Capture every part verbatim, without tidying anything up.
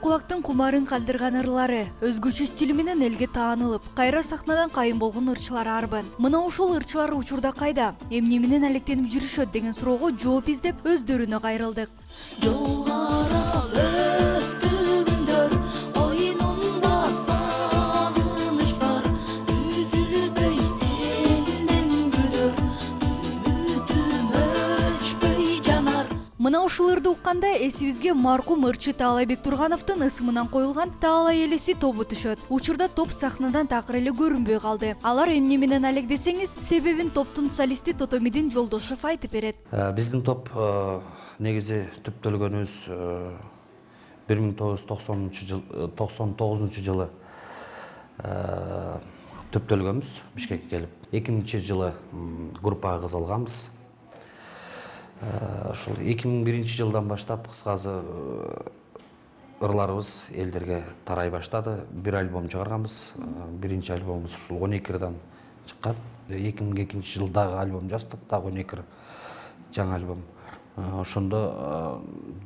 кулактын кумарын калтырган ырлары, өзгөчө стили менен элге таанылып, кайра сахнадан кайын болгон ырчылар арбын. Мына ошол ырчылар учурда кайда? Эмне менен алектенип жүрүшөт деген суроого жооп издеп өздөрүнө кайрылдык. Мына ушул ырды укканда эсибизге маркум ырчы Таалайбек Тургановдун ысымынан коюлган Таалай элеси тобу түшөт. Учурда топ сахнадан такыр эле көрүнбөй калды. Алар эмне менен алек десеңиз, себебин топтун солисти Тотомидин Жолдошов айтып берет. Биздин топ негизи түптөлгөнүбүз бир миң тогуз жүз токсонунчу жыл токсон тогузунчу жылы түптөлгөнбүз Бишкекке келип. эки миңинчи жылы группага кызылганбыз. Ошол эки миң биринчи жылдан баштап кыскасы ырларыбыз элдерге тарай баштады. Бир альбом чыгарганбыз. Биринчи альбомубуз ушул он эки ырдан чыккан. эки миң экинчи жылы дагы альбом жаздык, дагы он эки ыр жаңы альбом. Ошондо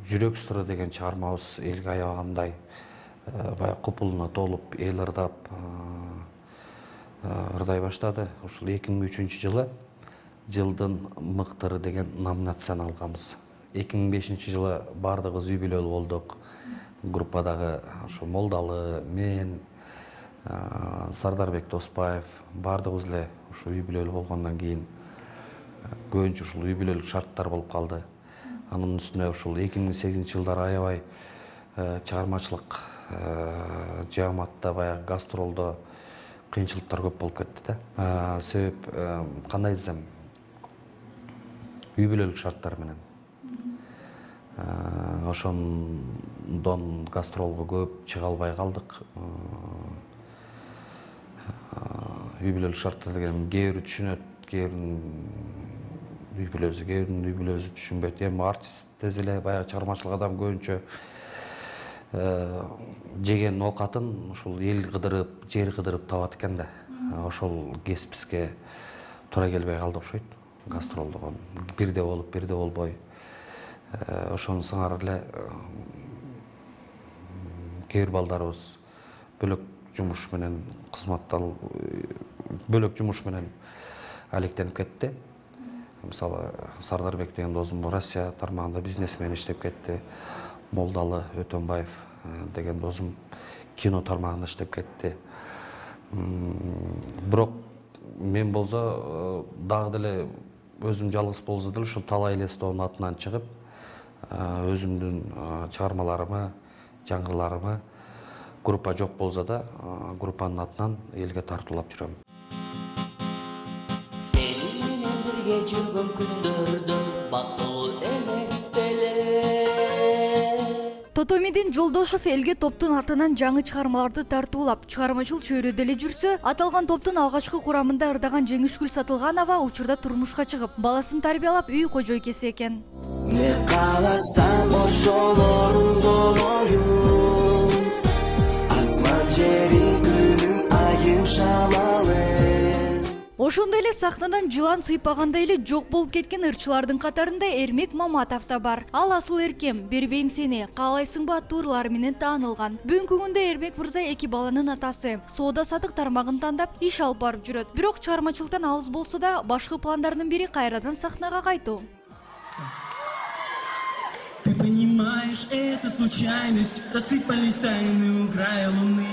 Жүрөк сыры деген чыгармабыз элге аябагандай баягы купулуна толуп, эл ырдап ырдай баштады. Ушул эки миң үчүнчү жылы жылдын мыктыры деген номинацияны алганбыз. эки миң бешинчи жылы бардыгыбыз үй бүлөлүү болдук. Группадагы ошо Молдалы, мен, Сардарбек Доспаев бардыгыбыз эле ушу үй бүлөлүү болгондон кийин көбүнчө ушул үй бүлөлүк шарттар болуп калды. Анын үстүнө ушул эки миң сегизинчи жылдары аябай чыгармачылык жааматта баягы гастролдо кыйынчылыктар көп болуп кетти да. Себеп кандай десем, үй бүлөлүк шарттар менен. Ошондон гастролго көп чыга албай калдык. Үй бүлөлүк шарттар деген кээ бирөө түшүнөт, кээ бирөөнүн үй бүлөсү, кээ бирөөнүн үй бүлөсү түшүнбөйт. Эми артист десе эле баягы чыгармачылык адам көбүнчө жеген оокатын ушул эл кыдырып, жер кыдырып табат экен да. Ошол кесипибизге туура келбей калды окшойт. Гастролдогон бирде болуп, бирде болбой. Ошону сыңар эле кээ бир балдарыбыз бөлөк жумуш менен кызматтал бөлөк жумуш менен алектенип кетти. Мисалы, Сардарбек деген досум Россия тармагында бизнесмен иштеп кетти. Молдалы Өтөнбаев деген досум кино тармагында иштеп кетти. Бирок мен болсо дагы деле өзүм жалгыз болсо деле ушул Таалай элеси тобунун атынан чыгып, өзүмдүн чыгармаларымы, жаңгыларымы группа жок болсо да группанын атынан элге тартуулап жүрөм. Сени менен бирге жүргөн күндөрдө бактылуу эмес беле. Тотомидин Жолдошов элге топтун атынан жаңы чыгармаларды тартуулап, чыгармачыл чөйрөдө эле жүрсө, аталган топтун алгачкы курамында ырдаган Жеңишгүл Сатылганова учурда турмушка чыгып, баласын тарбиялап үй кожойкеси экен. Не кааласам ошол орундолоюм, асман жерин күнү айым шамалы. Ошондой эле сахнадан жылан сыйпагандай эле жок болуп кеткен ырчылардын катарында Эрмек Маматов да бар. Ал асыл эркем, бербейм сени, каалайсыңбы аттуу ырлары менен таанылган. Бүгүнкү күндө Эрмек мырза эки баланын атасы, соода сатык тармагын тандап иш алып барып жүрөт. Бирок чыгармачылыктан алыс болсо да, башкы пландарынын бири кайрадан сахнага кайтуу. Ты понимаешь, это случайность, рассыпались тайны у края луны.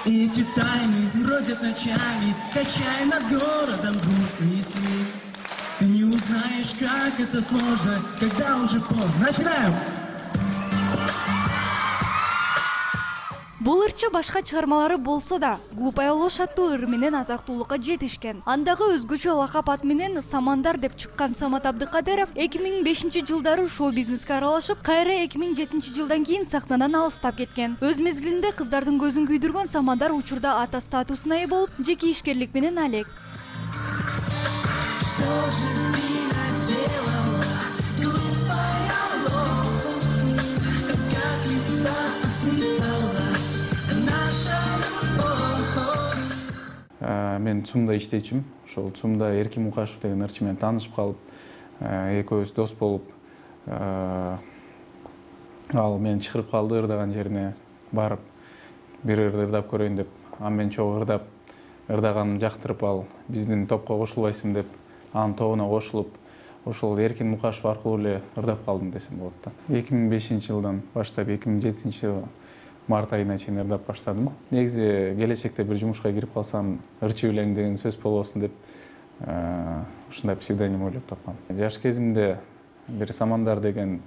И эти тайны бродят ночами, качая над городом грустные сны. Ты не узнаешь, как это сложно, когда уже поздно. Начинаем! Бул ырчы башка чыгармалары болсо да, Глупая ложь аттуу ыр менен атактуулукка жетишкен. Андагы өзгөчө лакап ат менен Самандар деп чыккан Самат Абдыкадыров эки миң бешинчи жылдары шоу-бизнеске аралашып, кайра эки миң жетинчи жылдан кийин сахнадан алыстап кеткен. Өз мезгилинде кыздардын көзүн күйдүргөн Самандар учурда ата статусуна ээ болуп, жеке ишкерлик менен алек. Мен ЦУМда иштечүмүн. Ошол ЦУМда Эркин Мукашев деген ырчы менен таанышып калып, экөөбүз дос болуп, ал мени чакырып калды ырдаган жерине барып бир ырды ырдап көрөйүн деп. Аны мен чогуу ырдап, ырдаганымды жактырып ал биздин топко кошулбайсың деп, анын тобуна кошулуп, ошол Эркин Мукашев аркылуу эле ырдап калдым десем болот да. эки миң бешинчи жылдан баштап эки миң жетинчи жыл март айына чейин ырдап баштадым. Негизи келечекте бир жумушка кирип калсам, ырчы өлең деген сөз болбосун деп ушундай псевдоним ойлоп тапкам. Жаш кезимде бир Самандар деген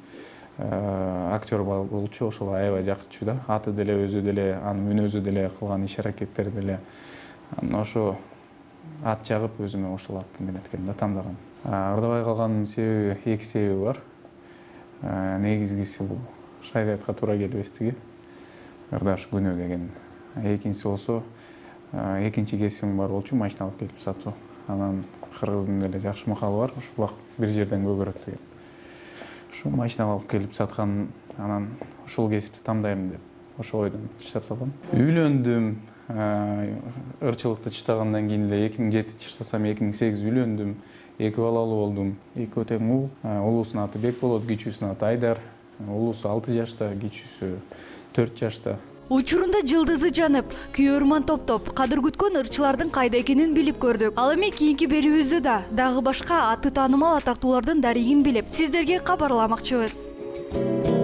актер болчу, ошол аябай жакчу да. Аты деле, өзү деле, анын мүнөзү деле, кылган иш аракеттери деле. Анан ошо ат жагып өзүмө ошол атты менеткем да, тандагам. Ырдабай калганымдын себеби эки себеби бар. Негизгиси бул шариатка туура келбестиги, ырдаш күнөө деген. Экинчиси болсо, экинчи кесибим бар болчу, машина алып келип сатуу. Анан кыргыздын деле жакшы макалы бар, ошо бак бир жерден көгөрөт деген. Ошо машина алып келип саткан, анан ушул кесипти тандайм деп ошол ойдон чыдап салгам. Үйлөндүм, ырчылыкты чыштагандан кийин эле эки миң жети чыштасам, эки миң сегиз үйлөндүм, эки балалуу болдум. Эки тең уул, улуусунун аты Бекболот, кичүүсүнүн аты Айдар. Улуусу алты жашта, кичүүсү төрт жашта. Учурунда жылдызы жанып, күйөрман топтоп, кадыр күткөн ырчылардын кайда экенин билип көрдүк. Ал эми кийинки берүүбүздө да дагы башка аты таанымал атактуулардын дарегин билип, сиздерге кабарламакчыбыз.